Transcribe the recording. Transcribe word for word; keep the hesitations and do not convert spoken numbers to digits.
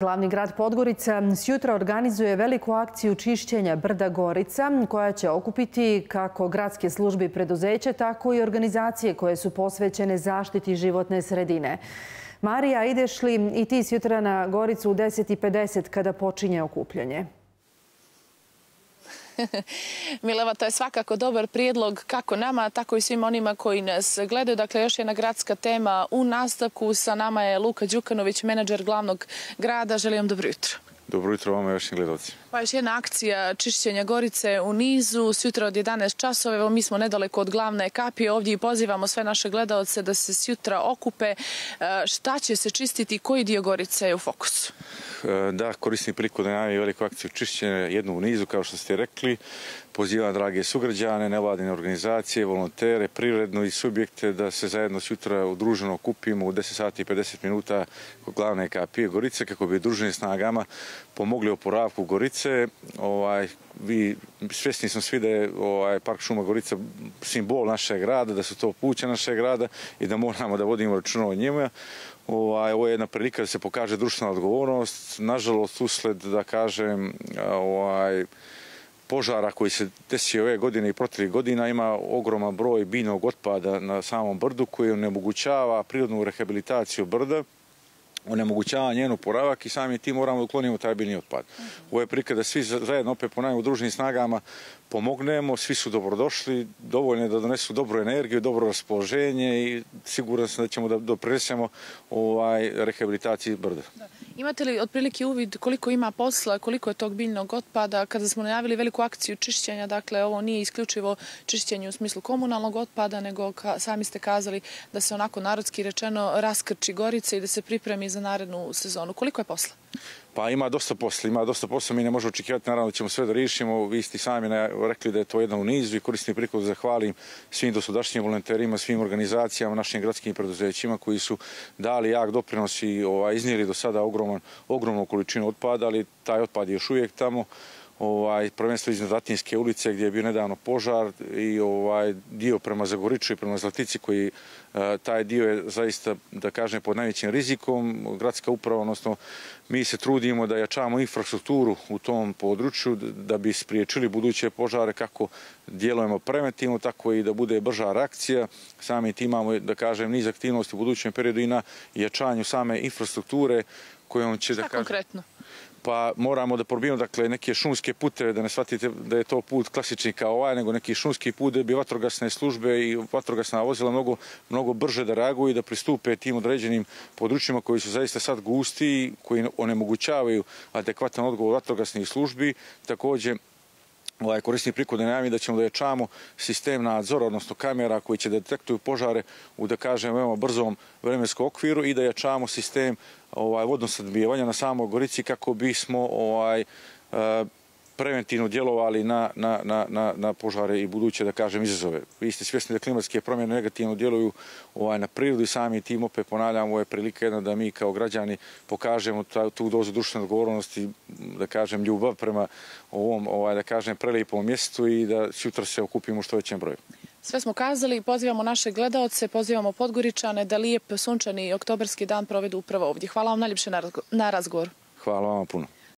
Glavni grad Podgorica sjutra organizuje veliku akciju čišćenja brda Gorica koja će okupiti kako gradske službe i preduzeće, tako i organizacije koje su posvećene zaštiti životne sredine. Marija, ideš li i ti sjutra na Goricu u deset i pedeset kada počinje okupljanje? Mileva, to je svakako dobar prijedlog kako nama, tako i svim onima koji nas gledaju. Dakle, još jedna gradska tema u nastavku. Sa nama je Luka Đukanović, menadžer glavnog grada. Želim vam dobro jutro. Dobro jutro vama i vašim gledalcima. Pa još jedna akcija čišćenja Gorice u nizu, sutra od jedanaest časova. Evo, mi smo nedaleko od glavne kapije ovdje i pozivamo sve naše gledalce da se sutra okupe. Šta će se čistiti, koji dio Gorice je u fokusu? Da, koristim priliku da najavim veliku akciju čišćenja, jednu u nizu, kao što ste rekli. Pozivam drage sugrađane, nevladine organizacije, volontere, privredno i subjekte da se zajedno sutra udruženo okupimo u deset sati i pedeset minuta kod glavne kapije Gorice kako bi udruženim snagama pomogli oporavku Gorice. Ovaj, vi, svjesni smo svi da je ovaj, Park šuma Gorica simbol našeg grada, da su to puće našeg grada i da moramo da vodimo računa o njima. Ovaj, ovo je jedna prilika da se pokaže društvena odgovornost. Nažalost, usled, da kažem, ovaj, požara koji se desio ove godine i proteklih godina ima ogroman broj biljnog otpada na samom brdu koji onemogućava prirodnu rehabilitaciju brda, onemogućava njenu oporavak i sami tim moramo da uklonimo taj biljni otpad. Ovo je prilika da svi zajedno opet po udruženim snagama pomognemo, svi su dobrodošli, dovoljno je da donesu dobru energiju, dobro raspoloženje i siguran sam da ćemo da doprinesemo ovaj, rehabilitaciji brda. Da. Imate li otprilike uvid koliko ima posla, koliko je tog biljnog otpada? Kada smo najavili veliku akciju čišćenja, dakle ovo nije isključivo čišćenje u smislu komunalnog otpada, nego ka, sami ste kazali da se onako narodski rečeno raskrči Gorica i da se pripremi za narednu sezonu. Koliko je posla? Pa ima dosta posla, ima dosta posla, mi ne možemo očekivati, naravno da ćemo sve da riješimo. Vi ste sami rekli da je to jedna u nizu i koristim priliku da zahvalim svim dosadašnjim volonterima, svim organizacijama, našim gradskim preduzećima koji su dali jak doprinos i ovaj, iznijeli do sada ogroman, ogromnu količinu otpada, ali taj otpad je još uvijek tamo. Ovaj, prvenstveno iznad Atinske ulice gdje je bio nedavno požar i ovaj, dio prema Zagoriču i prema Zlatici koji taj dio je zaista, da kažem, pod najvećim rizikom. Gradska uprava, odnosno mi se trudimo da jačamo infrastrukturu u tom području da bi spriječili buduće požare, kako djelujemo preventivno, tako i da bude brža reakcija. Sami tim imamo, da kažem, niz aktivnosti u budućem periodu i na jačanju same infrastrukture kojom će, da kažem... Šta konkretno? Pa moramo da probijemo, dakle, neke šumske puteve, da ne shvatite da je to put klasični kao ovaj, nego neki šumski put da bi vatrogasne službe i vatrogasna vozila mnogo, mnogo brže da reaguju i da pristupe tim određenim područjima koji su zaista sad gusti, koji onemogućavaju adekvatan odgovor vatrogasnih službi. Također, ovaj, koristim priliku da najavim da ćemo da jačamo sistem nadzora, odnosno kamera koji će detektuju požare u, da kažem, veoma brzom vremenskom okviru i da jačamo sistem ovaj, vodnosnabdijevanja na samoj Gorici kako bismo ovaj, preventivno djelovali na, na, na, na požare i buduće, da kažem, izazove. Vi ste svjesni da klimatske promjene negativno djeluju ovaj, na prirodu i sami tim opet ponavljamo, ovo je prilika jedna da mi kao građani pokažemo ta, tu dozu društvene odgovornosti, da kažem, ljubav prema ovom, ovaj, da kažem, prelijepom mjestu i da sutra se okupimo u što većem broju. Sve smo kazali, pozivamo naše gledaoce, pozivamo Podgoričane da lijep sunčani oktobarski dan provedu upravo ovdje. Hvala vam najljepše na razgovoru. Hvala vam puno.